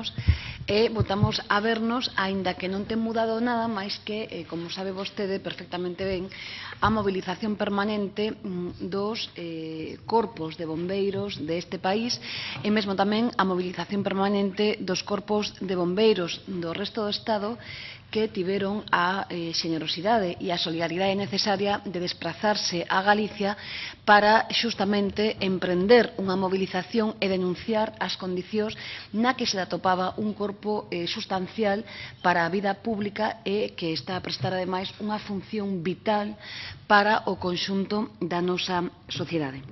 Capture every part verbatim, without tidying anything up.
anos e votamos a vernos, aínda que non ten mudado nada, máis que, eh, como sabe vostede perfectamente ben, a mobilización permanente dos eh, corpos de bombeiros deste país e mesmo tamén a mobilización permanente dos corpos de bombeiros do resto do Estado que tiveron a eh, xenerosidade e a solidaridade necesaria de desplazarse a Galicia para xustamente emprender unha movilización e denunciar as condicións na que se atopaba un corpo eh, sustancial para a vida pública e que está a prestar ademais unha función vital para o conxunto da nosa sociedade.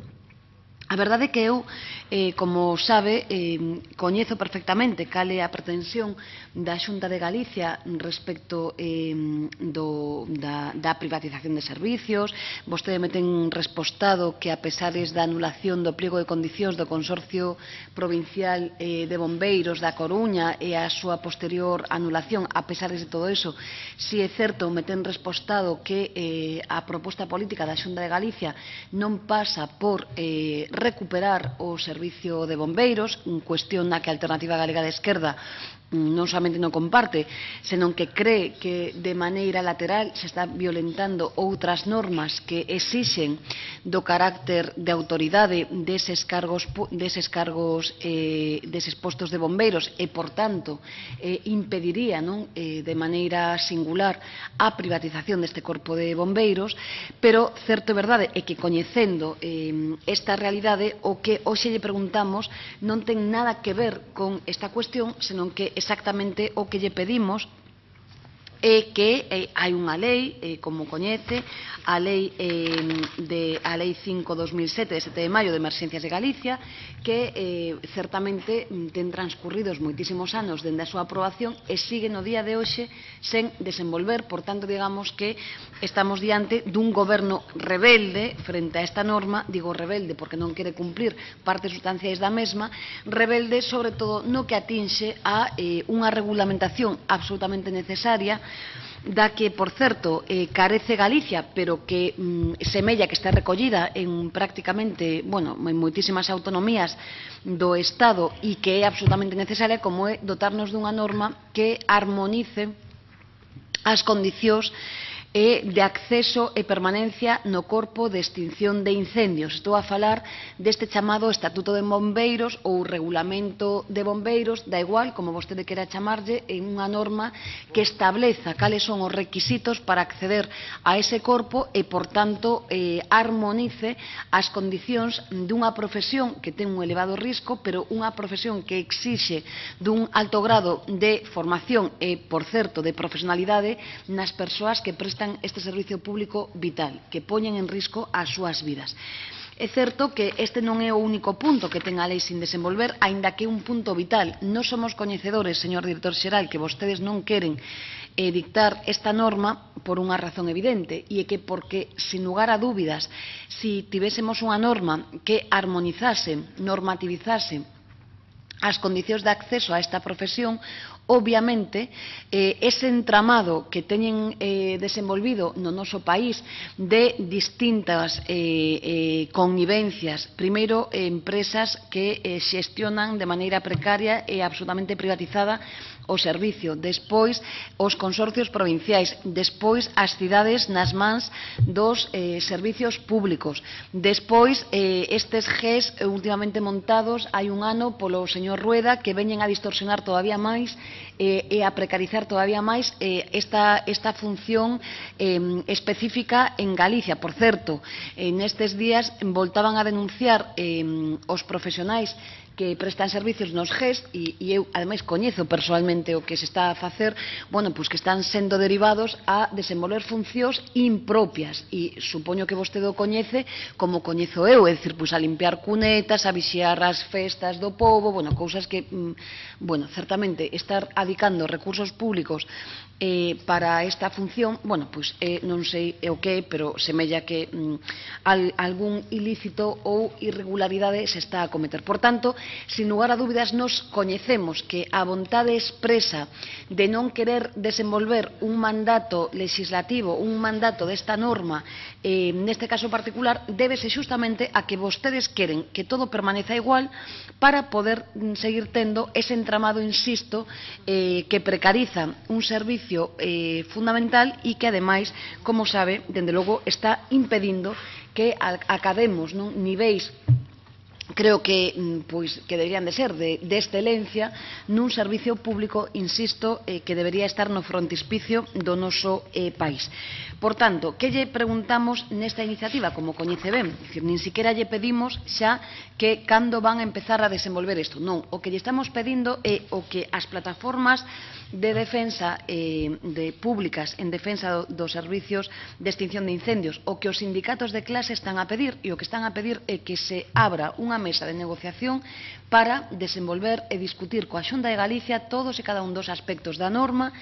A verdade é que eu, eh, como sabe, eh, coñezo perfectamente cal é a pretensión da Xunta de Galicia respecto eh, do, da, da privatización de servicios. Vostede me ten respostado que, a pesares da anulación do pliego de condicións do Consorcio Provincial eh, de Bombeiros da Coruña e a súa posterior anulación, a pesares de todo eso, si é certo, me ten respostado que eh, a proposta política da Xunta de Galicia non pasa por eh, recuperar o servicio de bombeiros, cuestión na que a Alternativa Galega de Esquerda non somente non comparte, senón que cree que de maneira lateral se está violentando outras normas que exixen do carácter de autoridade deses cargos, deses cargos eh, deses postos de bombeiros e, por tanto, eh, impediría non, eh, de maneira singular a privatización deste corpo de bombeiros, pero certo e verdade é que, coñecendo eh, esta realidade, o que hoxe lle preguntamos non ten nada que ver con esta cuestión, senón que exactamente o que lle pedimos é que eh, hai unha lei, eh, como coñece, a lei, eh, de, a lei cinco barra dos mil sete de sete de maio de Emerxencias de Galicia, que eh, certamente ten transcurridos moitísimos anos dende a súa aprobación e sigue no día de hoxe sen desenvolver. Por tanto, digamos que estamos diante dun goberno rebelde frente a esta norma. Digo rebelde porque non quere cumplir partes sustanciais da mesma, rebelde sobre todo no que atinxe a eh, unha regulamentación absolutamente necesaria, da que, por certo, eh, carece Galicia, pero que mm, semella que está recollida en prácticamente, bueno, en moitísimas autonomías do Estado e que é absolutamente necesaria, como é dotarnos dunha norma que armonice as condicións e de acceso e permanencia no corpo de extinción de incendios. Estou a falar deste chamado Estatuto de Bombeiros ou Regulamento de Bombeiros, da igual, como vostede quera chamarlle, en unha norma que estableza cales son os requisitos para acceder a ese corpo e, por tanto, eh, armonice as condicións dunha profesión que ten un elevado risco, pero unha profesión que exixe dun alto grado de formación e, por certo, de profesionalidade nas persoas que prestan este servicio público vital, que poñen en risco as súas vidas. É certo que este non é o único punto que ten a lei sin desenvolver, aínda que é un punto vital. Non somos coñecedores, señor director xeral, que vostedes non queren eh, dictar esta norma por unha razón evidente, e é que porque, sin lugar a dúbidas, si tivésemos unha norma que armonizase, normativizase as condicións de acceso a esta profesión, obviamente, eh, ese entramado que teñen eh, desenvolvido no noso país de distintas eh, eh, connivencias, primeiro, eh, empresas que eh, xestionan de maneira precaria e absolutamente privatizada o servicio, despois os consorcios provinciais, despois as cidades nas mans dos eh, servicios públicos, despois eh, estes G E S últimamente montados hai un ano polo señor Rueda, que veñen a distorsionar todavía máis eh, e a precarizar todavía máis eh, esta, esta función eh, específica en Galicia. Por certo, en estes días voltaban a denunciar eh, os profesionais que prestan servicios nos G E S e, e eu, ademais, coñezo personalmente o que se está a facer, bueno, pois que están sendo derivados a desenvolver funcións impropias e supoño que vostede o coñece como coñezo eu, é dicir, pois a limpiar cunetas, a vixiar as festas do pobo, bueno, cousas que, bueno, certamente estar adicando recursos públicos eh, para esta función, bueno, pois eh, non sei o que, pero semella que mm, al, algún ilícito ou irregularidade se está a cometer. Por tanto, sin lugar a dúbidas, nos coñecemos que a vontade expresa de non querer desenvolver un mandato legislativo, un mandato desta norma, eh, neste caso particular, débese xustamente a que vostedes queren que todo permaneza igual para poder seguir tendo ese entramado, insisto, eh, que precariza un servicio eh, fundamental e que, ademais, como sabe, dende logo, está impedindo que academos non, niveis, creo que, pois, que deberían de ser de, de excelencia nun servicio público, insisto, eh, que debería estar no frontispicio do noso eh, país. Por tanto, que lle preguntamos nesta iniciativa? Como coñece ben, dicir, nin siquiera lle pedimos xa que cando van a empezar a desenvolver isto. Non, o que lle estamos pedindo é o que as plataformas de defensa eh, de públicas en defensa do, dos servicios de extinción de incendios, o que os sindicatos de clase están a pedir, e o que están a pedir é que se abra unha mesa de negociación para desenvolver e discutir coa Xunta de Galicia todos e cada un dos aspectos da norma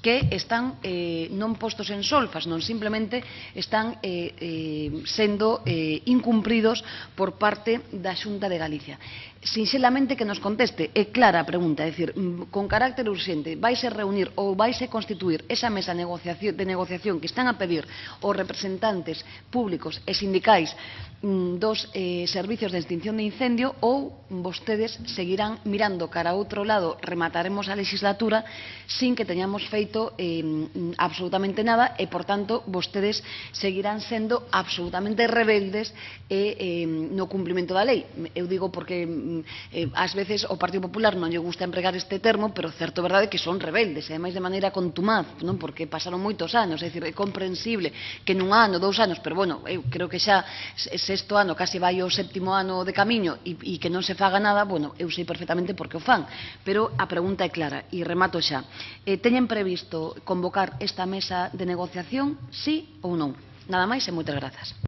que están eh, non postos en solfas, non simplemente están eh, eh, sendo eh, incumpridos por parte da Xunta de Galicia. Sinxelamente que nos conteste, é clara a pregunta, é dicir, con carácter urxente, vaise reunir ou vaise constituir esa mesa de negociación que están a pedir os representantes públicos e sindicais dos eh, servicios de extinción de incendio, ou vostedes seguirán mirando cara a outro lado, remataremos a legislatura sin que teñamos feito eh, absolutamente nada e, por tanto, vostedes seguirán sendo absolutamente rebeldes e, eh, no cumprimento da lei. Eu digo porque eh, ás veces o Partido Popular non lle gusta empregar este termo, pero certo é verdade que son rebeldes, e ademais de maneira contumaz, non? Porque pasaron moitos anos, é dicir, é comprensible que nun ano, dous anos, pero bueno, eu creo que xa sexto ano, casi vai o séptimo ano de camiño e, e que non se faga nada, bueno, eu sei perfectamente por que o fan, pero a pregunta é clara e remato xa. Eh, teñen previsto convocar esta mesa de negociación, sí ou non? Nada máis e moitas grazas.